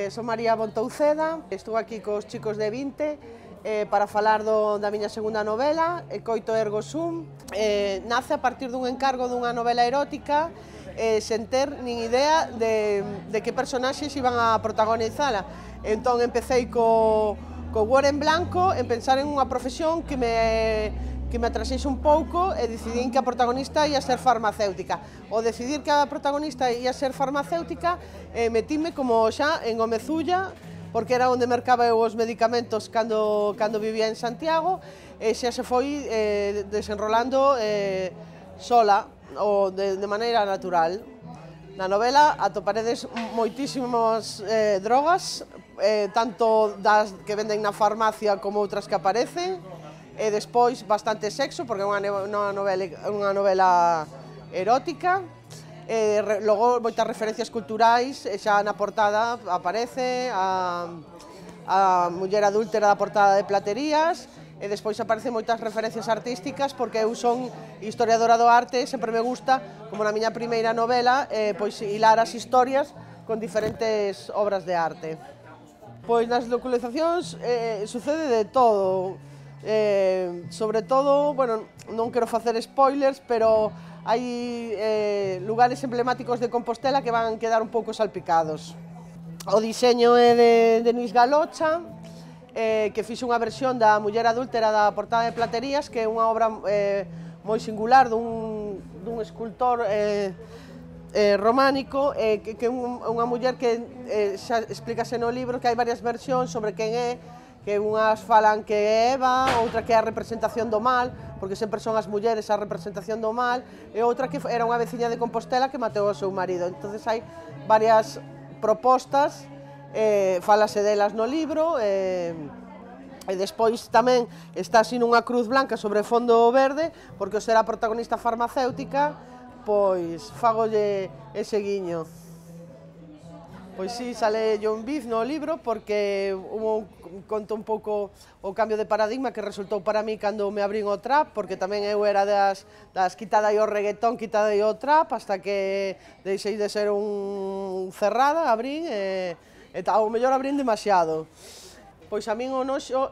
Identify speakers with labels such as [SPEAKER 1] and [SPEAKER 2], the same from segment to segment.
[SPEAKER 1] son María Bontouceda, estou aquí cos chicos de 20 para falar da miña segunda novela, Coito ergo sum. Nace a partir dun encargo dunha novela erótica sen ter nin idea de que personaxes iban a protagonizala. Entón empecé co Word en blanco en pensar en unha profesión que me atrasese un pouco e decidín que a protagonista ia ser farmacéutica. Ao decidir que a protagonista ia ser farmacéutica, metíme como xa en Gomezulla, porque era onde mercaba eu os medicamentos cando vivía en Santiago, e xa se foi desenrolando sola, ou de maneira natural. Na novela atoparedes moitísimas drogas, tanto das que venden na farmacia como outras que aparecen, e despois bastante sexo, porque é unha novela erótica. Logo moitas referencias culturais, xa na portada aparece a muller adúltera da portada de Platerías, e despois aparecen moitas referencias artísticas, porque eu son historiadora do arte e sempre me gusta, como na miña primeira novela, pois hilar as historias con diferentes obras de arte. Pois nas localizacións sucede de todo. Sobre todo, bueno, non quero facer spoilers, pero hai lugares emblemáticos de Compostela que van quedar un pouco salpicados. O diseño é de Denis Galocha, que fixe unha versión da muller adúltera da portada de Platerías, que é unha obra moi singular dun escultor románico, que é unha muller que xa explícase no libro que hai varias versións sobre quen é, que unhas falan que é Eva, outra que é a representación do mal, porque sempre son as mulleres a representación do mal, e outra que era unha veciña de Compostela que matou ao seu marido. Entón hai varias propostas, falase delas no libro, e despois tamén está así nunha cruz blanca sobre fondo verde, porque ao ser a protagonista farmacéutica, pois fagolle ese guiño. Pois sí, sale John Beef no libro, porque conto un pouco o cambio de paradigma que resultou para mí cando me abrín o trap, porque tamén eu era das quitada o reggaetón, quitada o trap, hasta que deixei de ser un cerrada, abrín, e ao mellor abrín demasiado. Pois a min o noxo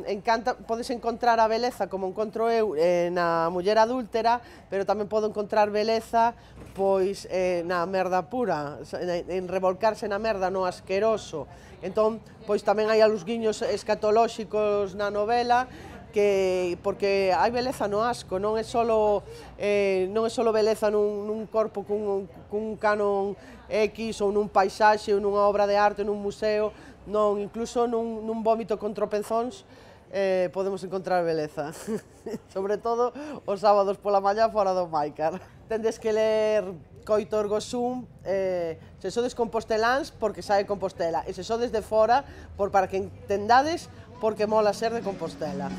[SPEAKER 1] encanta, podes encontrar a beleza como encontro eu na muller adúltera, pero tamén podo encontrar beleza pois na merda pura, en revolcarse na merda, no asqueroso. Entón, pois tamén hai algúns guiños escatolóxicos na novela, porque hai beleza no asco, non é solo beleza nun corpo cun canon X, ou nun paisaxe, ou nunha obra de arte, nun museo. Non, incluso nun vómito con tropezóns podemos encontrar beleza. Sobre todo os sábados pola mañá fora do Maicar. Tendes que ler Coito ergo sum, se sodes composteláns, porque sae Compostela, e se sodes de fora, para que entendades porque mola ser de Compostela.